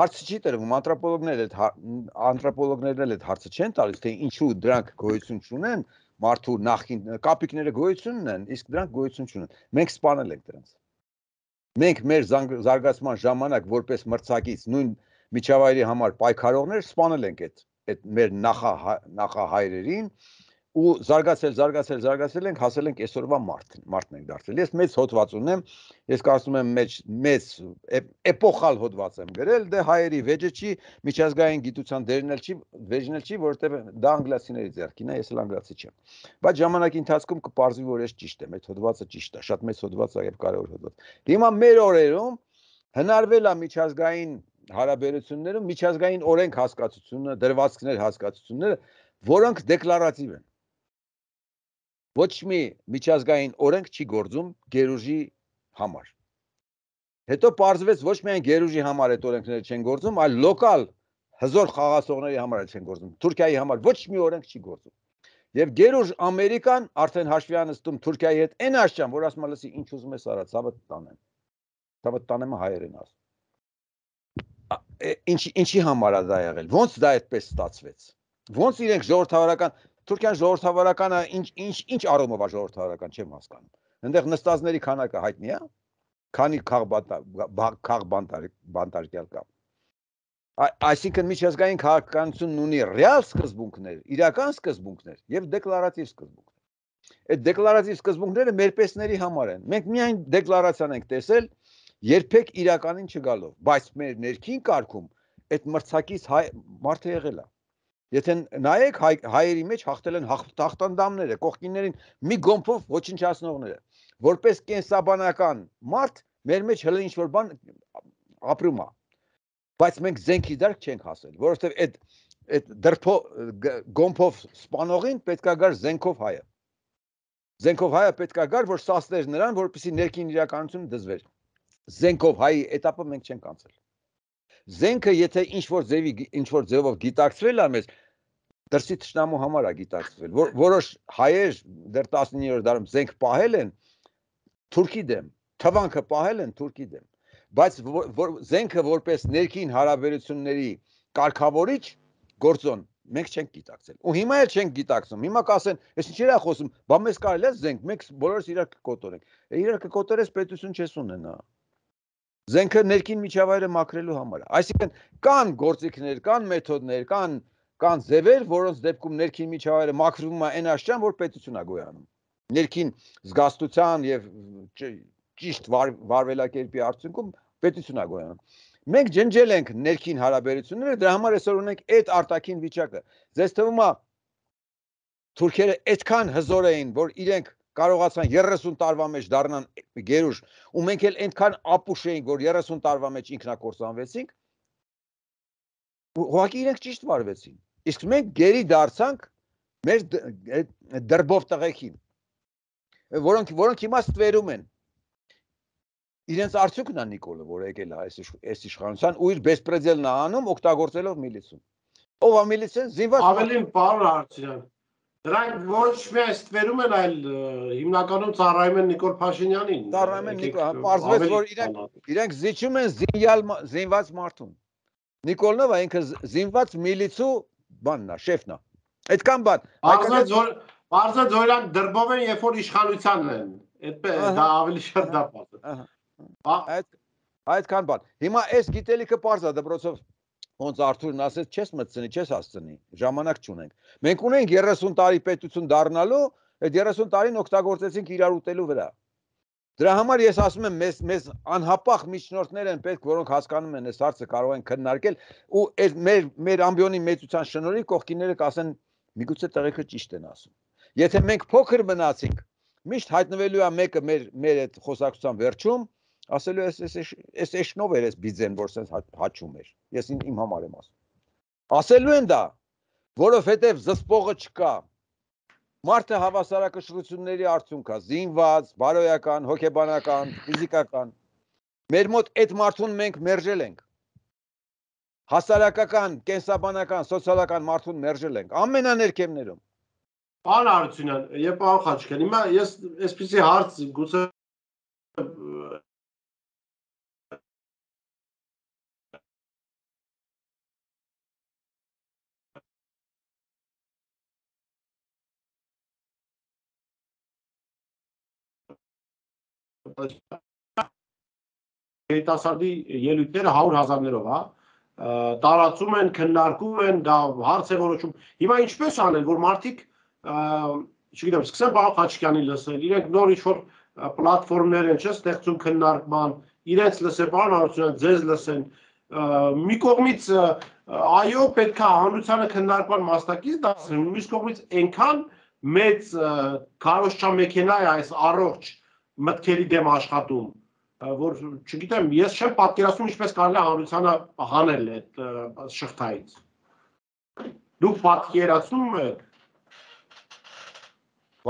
Հարցը չի տրվում, անթրոպոլոգներն էլ անթրոպոլոգներն էլ այդ հարցը չեն տալիս, թե ինչու դրանք գոյություն չունեն, մարդու նախին կապիկները գոյություն ունեն, իսկ դրանք գոյություն չունեն։ Մենք սպանել ենք դրանց։ Մենք մեր զարգացման ժամանակ որպես մրցակից նույն միջավայրի համար պայքարողներ սպանել ենք այդ այդ մեր նախա նախահայրերին ու զարգացել, զարգացել, զարգացել ենք, հասել ենք այսօրվա մարդ, մարդն ենք դարձել։ Ես մեծ հոդված ունեմ, ես կարծում եմ մեծ մեծ էպոխալ հոդված եմ գրել, դե հայերի վեճը չի, միջազգային գիտության դերն էլ չի, վեճն էլ չի, որովհետև դա անգլիացիների ձեռքին է, ես էլ անգլիացի չեմ։ Բայց ժամանակի ընթացքում կպարզվի, որ ես ճիշտ եմ, այդ հոդվածը ճիշտ է, շատ մեծ հոդված է եւ կարևոր հոդված։ Հիմա մեր օրերում հնարվել է միջազգային հարաբերություններում միջազգային օրենք հասկացությունը, դրվածքներ հասկացությունները, որոնք դեկլարատիվ են։ Ոչ մի միջազգային օրենք չի գործում գերուժի համար։ Հետո պարզվեց ոչ միայն գերուժի համար այդ օրենքները չեն գործում, այլ լոկալ հզոր խաղացողների համար էլ չեն գործում։ Թուրքիայի համար ոչ մի օրենք չի գործում։ Եվ գերուժ Ամերիկան արդեն հաշվի անցնում Թուրքիայի հետ այն աշճան, որ ասում է, լսի, ինչ ուզում ես արա, ցավը տանեմ։ Ցավը տանեմ հայերեն ասում։ Ինչ ինչի համար է դա եղել։ Ոնց դա այդպես ստացվեց։ Ոնց իրենք ժողովրդավարական Թուրքիան ժողովրդավարականը ինչ ինչ ինչ առումով է ժողովրդավարական չեմ հասկանում։ Այնտեղ նստածների քանակը հայտնի է։ Քանի քաղ բանտարկյալ կա։ Այսինքն միջազգային քաղաքականությունն ունի ռեալ սկզբունքներ, իրական սկզբունքներ եւ դեկլարատիվ սկզբունքներ։ Այդ դեկլարատիվ սկզբունքները մեր պեսների համար են։ Մենք միայն դեկլարացիան ենք տեսել, երբեք իրականին չգալով, բայց մեր ներքին կարգում այդ մրցակից մարդը եղել է։ Եթե նայեք հայերի մեջ հաղթել են հաղթանդամները, կողքիններին մի գոմփով ոչնչացնողները, որպես կենսաբանական մարդ մեր մեջ հələ ինչ որ բան ապրում է։ Բայց մենք զենքի դարք չենք հասել, որովհետև այդ այդ դրփո գոմփով սպանողին պետքա գար զենքով հայը։ Զենքով հայը պետք է գար, որ սասներ նրան, որպեսզի ներքին իրականությունը դզվեր։ Զենքով հայի этаպը մենք չենք անցել։ Զենքը եթե ինչ որ ձևի ինչ որ ձևով գիտակցվել է մեզ, դրսի թշնամու համար է գիտակցվել։ Որ որոշ հայեր դեռ տասնիններորդ դարում զենք պահել են Թուրքի դեմ, թվանքը պահել են Թուրքի դեմ, բայց որ զենքը որպես ներքին հարաբերությունների կարգավորիչ գործոն մենք չենք գիտակցել։ Ու հիմա էլ չենք գիտակցում։ Հիմա կասեն, ես ինչի՞ է խոսում, բա մեզ կարելի է զենք, մենք բոլորս իրար կկոտորենք։ Իրար կկոտորես պետություն չես ունենա։ Զենքը ներքին միջավայրը մաքրելու համար է։ Այսինքն կան գործիքներ, կան մեթոդներ, կան կան ձևեր, որոնց դեպքում ներքին միջավայրը մաքրվում է այն աշճան, որ պետություն է գոյանում։ Ներքին զգաստության եւ ճիշտ վարվելակերպի արդյունքում պետություն է գոյանում։ Մենք ջնջել ենք ներքին հարաբերությունները, դրա համար այսօր ունենք այդ արտաքին վիճակը։ Ձեզ թվում է թուրքերը այդքան հզոր էին, որ իրենք կարողացան երեսուն տարվա մեջ դառնան գերուժ, ու մենք էլ այնքան ապուշ էինք, որ երեսուն տարվա մեջ ինքնակործանվեցինք։ Ուղղակի իրենք ճիշտ վարվեցին։ Իսկ մենք գերի դարձանք մեր դրբով տղեկին, որոնք որոնք հիմա ստվերում են։ Իրենց արդյունքն է Նիկոլը, որ եկել է այս իշխանության ու իր բեսպրեդելն է անում, օգտագործելով միլիցիան։ Ով է միլիցիան? Զինված Ավելին պարոն Հարությունյան, դրանք ոչ միայն ստվերում են, այլ հիմնականում ծառայում են Նիկոլ Փաշինյանին։ Ծառայում են Նիկոլ, պարզվեց, որ իրենք իրենք զիջում են զինյալ զինված մարդուն։ Նիկոլն ով է, ինքը զինված միլիցու բանն է, շեֆն է։ Այդքան բան։ Պարզվեց, որ պարզվեց, որ իրանք դրբով են, երբ որ իշխանությանն են։ Այդպես դա ավելի շատ դա պարզ։ Այդ այդքան բան։ Հիմա այս գիտելիքը պարզ է դպրոցով ոնց Արթուրն ասեց, չես մտցնի, չես հասցնի, ժամանակ չունենք։ Մենք ունենք երեսուն տարի պետություն դառնալու, այդ երեսուն տարին օգտագործեցինք իրար ուտելու վրա։ Դրա համար ես ասում եմ, մեզ մեզ անհապաղ միջնորդներ են պետք, որոնք հասկանում են այս հարցը, կարող են քննարկել ու այս մեր մեր ամբիոնի մեծության շնորհիվ կողքինները կասեն, միգուցե տղեկը ճիշտ են ասում։ Եթե մենք փոքր մնացինք, միշտ հայտնվելու է մեկը մեր մեր այդ խոսակցության վերջում, ասելու էս էս էս էշնով էր էս բիձեն, որ sense հաճում էր։ Ես իմ համար եմ ասում։ Ասելու են դա, որովհետև զսպողը չկա։ Մարդը հավասարակշռությունների արդյունք է, զինված, բարոյական, հոգեբանական, ֆիզիկական։ Մեր մոտ այդ մարդուն մենք մերժել ենք։ Հասարակական, կենսաբանական, սոցիալական մարդուն մերժել ենք ամենաներկեմներում։ Պարոն Հարությունյան, եւ պարոն Խաչիկյան, հիմա ես այսպեսի հարց գուցե երիտասարդի ելույթները հարյուր հազարներով, հա, տարածում են, քննարկում են, դա հարց է որոշում։ Հիմա ինչպես անել, որ մարդիկ, չգիտեմ, սկսեն պարոն Խաչիկյանին լսել, իրենք նոր ինչ-որ պլատֆորմներ են, չէ՞, ստեղծում քննարկման, իրենց լսեն, պարոն Հարությունյան, ձեզ լսեն։ Մի կողմից այո, պետք է հանրությանը քննարկման մասնակից դարձնել, մյուս կողմից այնքան մեծ քարոզչամեքենա է այս առողջ մտքերի դեմ աշխատում, որ չգիտեմ, ես չեմ պատկերացնում ինչպես կարելի է հանրությանը հանել այդ շղթայից։ Դուք պատկերացնում եք։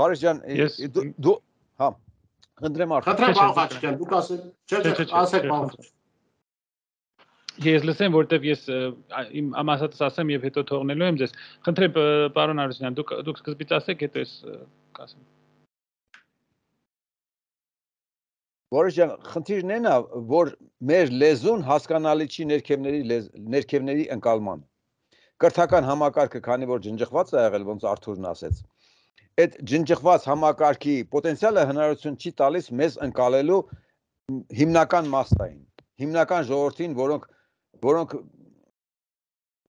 Բարիշ ջան, դու հա, խնդրեմ արդեն։ Խնդրեմ պարոն Խաչիկյան, դուք ասեք, չէ, չէ, ասեք պարոն Խաչիկյան։ Ես լսեմ, որտեվ ես իմ ամասատս ասեմ եւ հետո թողնելու եմ ձեզ։ Խնդրեմ պարոն Հարությունյան, դուք դուք սկզբից ասեք, հետո ես կասեմ։ Բարիշ ջան, խնդիրն այն է, որ մեր լեզուն հասկանալի չի ներքևների ներքևների ընկալման։ Կրթական համակարգը, քանի որ ջնջված է եղել, ոնց Արթուրն ասեց, այդ ջնջված համակարգի պոտենցիալը հնարավորություն չի տալիս մեզ ընկալելու հիմնական մասային, հիմնական ժողովրդին, որոնք որոնք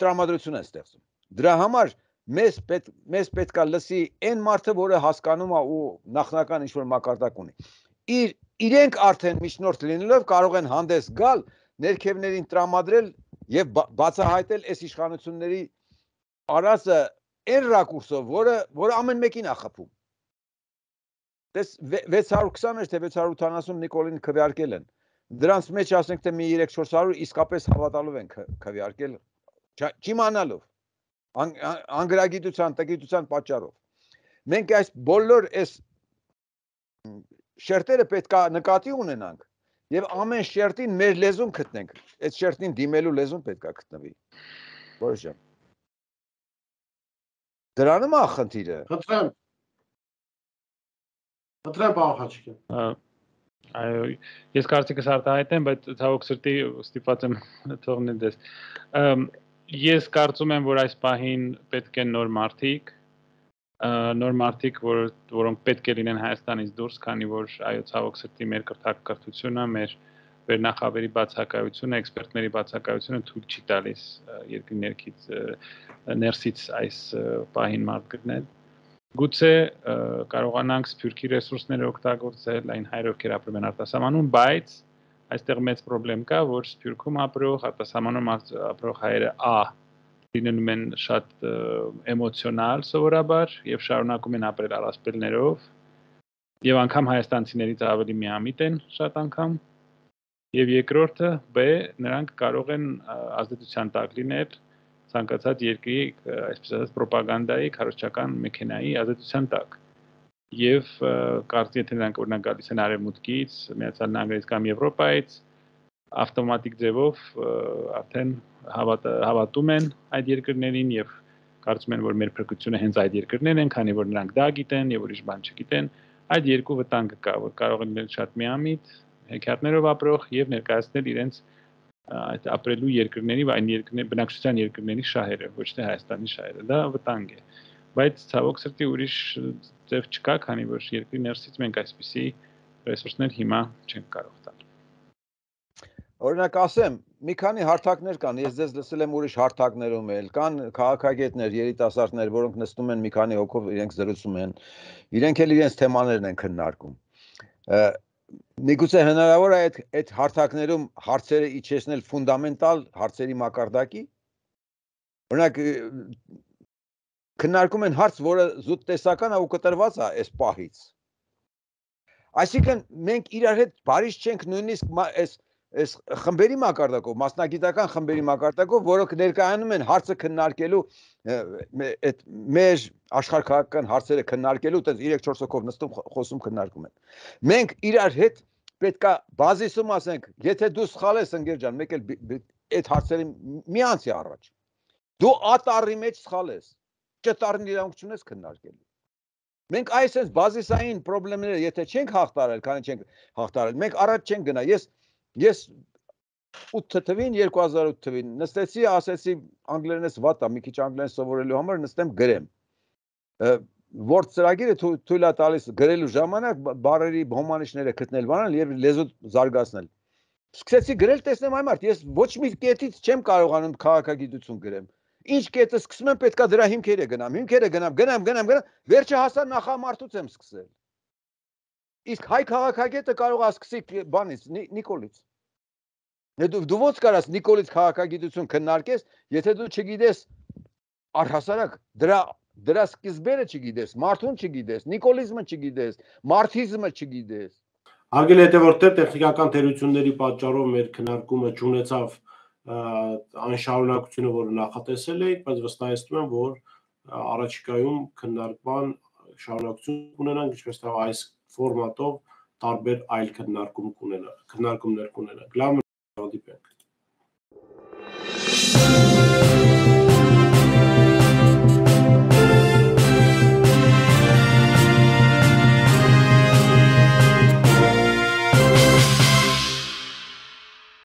տրամադրություն են ստեղծում։ Դրա համար մեզ պետք մեզ պետքա լսի այն մարդը, որը հասկանում է ու նախնական ինչ-որ մակարդակ ունի։ Իր իրենք արդեն միջնորդ լինելով կարող են հանդես գալ, ներքևներին տրամադրել եւ բացահայտել այս իշխանությունների արածը այն ռակուրսով, որը որը ամեն մեկին է խփում։ Դες վեց հարյուր քսան թե վեց հարյուր ութանասուն Նիկոլին քվեարկել են։ Դրանց մեջ ասենք թե մի երեք-չորս հարյուր իսկապես հավատալով են քվեարկել, չիմանալով, անգրագիտության, տգիտության պատճառով։ Մենք այս բոլոր այս շերտերը պետք է նկատի ունենանք եւ ամեն շերտին մեր լեզուն գտնենք։ Այդ շերտին դիմելու լեզուն պետք է գտնվի։ Որոշեմ։ Դրանում է խնդիրը։ Խնդրեմ։ Խնդրեմ պարոն Խաչիկյան։ Այո, ես կարծիքս արտահայտեմ, բայց ցավոք սրտի ստիպված եմ թողնել դες։ Ես կարծում եմ, որ այս պահին պետք են նոր մարդիկ, նոր մարդիկ, որ որոնք պետք է լինեն Հայաստանից դուրս, քանի որ այո, ցավոք սրտի մեր կրթակրթությունը, մեր վերնախավերի բացակայությունը, էքսպերտների բացակայությունը թույլ չի տալիս երկրի ներքից ներսից այս պահին մարդ գտնել։ Գուցե կարողանանք սփյուռքի ռեսուրսները օգտագործել այն հայրեր, ովքեր ապրում են արտասահմանում, բայց այստեղ մեծ խնդրեմ կա, որ սփյուռքում ապրող, արտասահմանում ապրող հայերը ա լինում են շատ էմոցիոնալ սովորաբար եւ շարունակում են ապրել առասպելներով եւ անգամ հայաստանցիներից ավելի միամիտ են շատ անգամ եւ երկրորդը բ նրանք կարող են ազդեցության տակ լինել ցանկացած երկրի, այսպես ասած, ռոպագանդայի, քարոզչական մեքենայի ազդեցության տակ։ Եվ կարծի եթե նրանք օրինակ գալիս են Արևմուտքից, Միացյալ Նահանգներից կամ Եվրոպայից, ավտոմատիկ ձևով արդեն հավատում են այդ երկրներին եւ կարծում են, որ մեր փրկությունը հենց այդ երկրներն են, քանի որ նրանք դա գիտեն եւ ուրիշ բան չգիտեն։ Այդ երկու վտանգը կա, որ կարող են լինել շատ միամիտ, հեքիաթներով ապրող եւ ներկայացնել իրենց այդ ապրելու երկրների, այն երկրների, բնակչության երկրների շահերը, ոչ թե Հայաստանի շահերը, դա վտանգ է։ Բայց ցավոք սրտի ուրիշ ձև չկա, քանի որ երկրի ներսից մենք այսպիսի ռեսուրսներ հիմա չենք կարող տալ։ Օրինակ ասեմ, մի քանի հարթակներ կան, ես ձեզ լսել եմ ուրիշ հարթակներում էլ, կան քաղաքագետներ, երիտասարդներ, որոնք նստում են մի քանի հոգով, իրենք զրուցում են, իրենք էլ իրենց թեմաներն են քննարկում։ Միգուցե հնարավոր է այդ այդ հարթակներում հարցերը իջեցնել ֆունդամենտալ հարցերի մակարդակի։ Օրինակ քննարկում են հարց, որը զուտ տեսական է ու կտրված է այս պահից։ Այսինքն մենք իրար հետ բարիշ չենք նույնիսկ այս այս խմբերի մակարդակով, մասնագիտական խմբերի մակարդակով, որոնք ներկայանում են հարցը քննարկելու այդ մեր աշխարհքաղաքական հարցերը քննարկելու, այդպես երեք չորս հոգով նստում խոսում քննարկում են։ Մենք իրար հետ պետքա բազիսում ասենք, եթե դու սխալ ես ընկեր ջան, մեկ էլ այդ հարցերի մի անցի առաջ։ Դու ատարի մեջ սխալ ես, ճտարն իրավունք չունես քննարկելու։ Մենք այսպես բազիսային խնդիրները եթե չենք հաղթարել, քանի չենք հաղթարել, մենք առաջ չենք գնա։ Ես ես ութ թվին երկու հազար ութ թվին նստեցի, ասեցի անգլերենս վատ է, մի քիչ անգլերեն սովորելու համար նստեմ գրեմ։ Որ ծրագիրը թույլ է տալիս գրելու ժամանակ բառերի հոմանիշները գտնել, բանալ եւ լեզու զարգացնել։ Սկսեցի գրել, տեսնեմ այ մարդ, ես ոչ մի կետից չեմ կարողանում քաղաքագիտություն գրեմ։ Ինչ կետը սկսում եմ, պետքա դրա հիմքերը գնամ, հիմքերը գնամ, գնամ, գնամ, գնամ, վերջը հասա նախամարտուց եմ սկսել։ Իսկ հայ քաղաքագետը կարող է սկսի բանից, Նիկոլից։ Դու ո՞նց կարաս Նիկոլից քաղաքագիտություն քննարկես, եթե դու չգիտես առհասարակ դրա դրա սկզբերը չգիտես, մարդուն չգիտես, նիկոլիզմը չգիտես, մարքսիզմը չգիտես։ Հարգելի հետևորդներ, տեխնիկական թերությունների պատճառով մեր քննարկումը չունեցավ այն շարունակությունը, որը նախատեսել էինք, բայց վստահեցնում եմ, որ առաջիկայում քննարկման շարունակություն կունենանք, ինչպես թե այս ֆորմատով տարբեր այլ քննարկում կունենանք, քննարկումներ կունենանք։ Լավ, հանդիպենք։